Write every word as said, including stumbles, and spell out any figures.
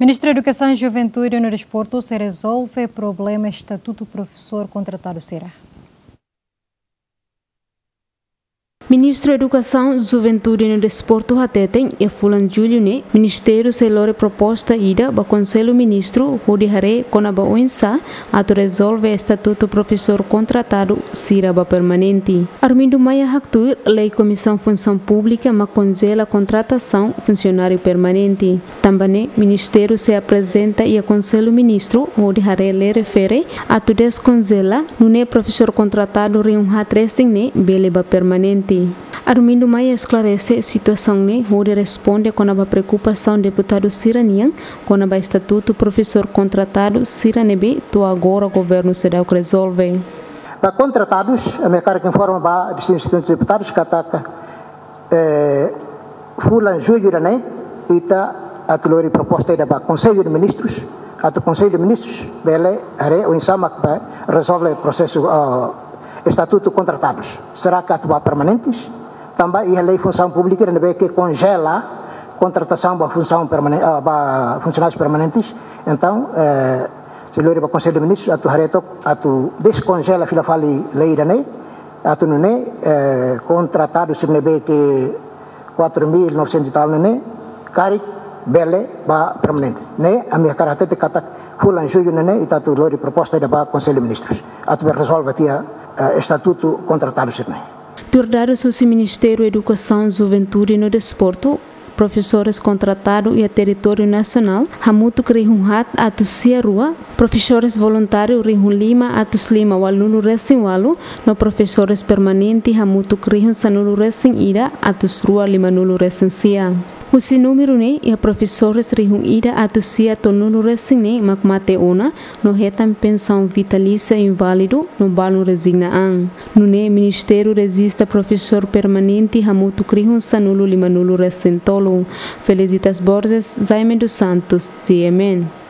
Ministru Edukasaun, Juventude no Desportu sei rezolve problema estatutu profesór kontratadu sira. Ministru Edukasaun, Juventude no Desportu hateten, iha fulan Jullu ne'e, Ministériu sei lori proposta ida ba Konsellu Ministru hodi haree kona-ba oinsá atu rezolve estatutu profesór kontratadu sira ba permanente. Armindo Maia haktuir, lei Komisaun Funsaun Públika mak konjela kontratasaun funsionáriu permanente. Tanba ne'e, Ministériu sei aprezenta iha Konsellu Ministru hodi haree lei refere atu deskonjela, nune'e profesór kontratadu rihun haat resin ne'e bele ba permanente. Armindo Maia esklarese situasaun ne'e hodi responde kona-ba preokupasaun deputadu sira-nian kona-ba estatutu profesór kontratadu sira ne'ebé to'o agora governu seidauk rezolve. Ba kontratadus, ami hakarak informa ba distintus deputadus katak, eh, fulan Jullu ida-ne'e, ita atu lori proposta ida ba Konsellu de Ministrus, atu Konsellu de Ministrus bele haree oinsá mak ba rezolve prosesu, ah, estatutu kontratadus. Será ke atu ba permanentes? Tanba iha lei Funsaun Públika ida ne'ebé ke konjela kontratasaun ba funsaun permanen-, ah, ba funsionárius permanentes. Entaun, eh, sei lori ba Konsellu de Ministrus atu haree took, atu deskonjela fila fali lei ida-ne'e, atu nune'e, eh, kontratadu sira ne'ebé ke quatro mil novecentos e tal ne'e, karik bele ba permanente. Ne'e, ami hakarak hatete katak fulan Jullu ne'e, ita atu lori proposta ida ba Konsellu de Ministrus atu bele rezolve tiha, eh, estatutu kontratadu sira-ne'e. Tuir dadus husi Ministériu Edukasaun, Juventude no Desportu, profesores kontratadu iha territóriu nasionál hamutuk rihun haat atus sia rua, profesores voluntáriu rihun lima atus lima ualunulu resin ualu, no profesores permanente hamutuk rihun sanulu resin ida atus rua limanulu resin sia. Husi númeru ne'e, iha profesores rihun ida atus sia tolunulu resin ne'e mak mate ona, no hetan pensaun vitalísia inválidu no balun rezigna an. Nune'e Ministériu rejista profesór permanente hamutuk rihun sanulu limanulu resin tolu. Felicitas Borges, Jaime dos Santos, G M N.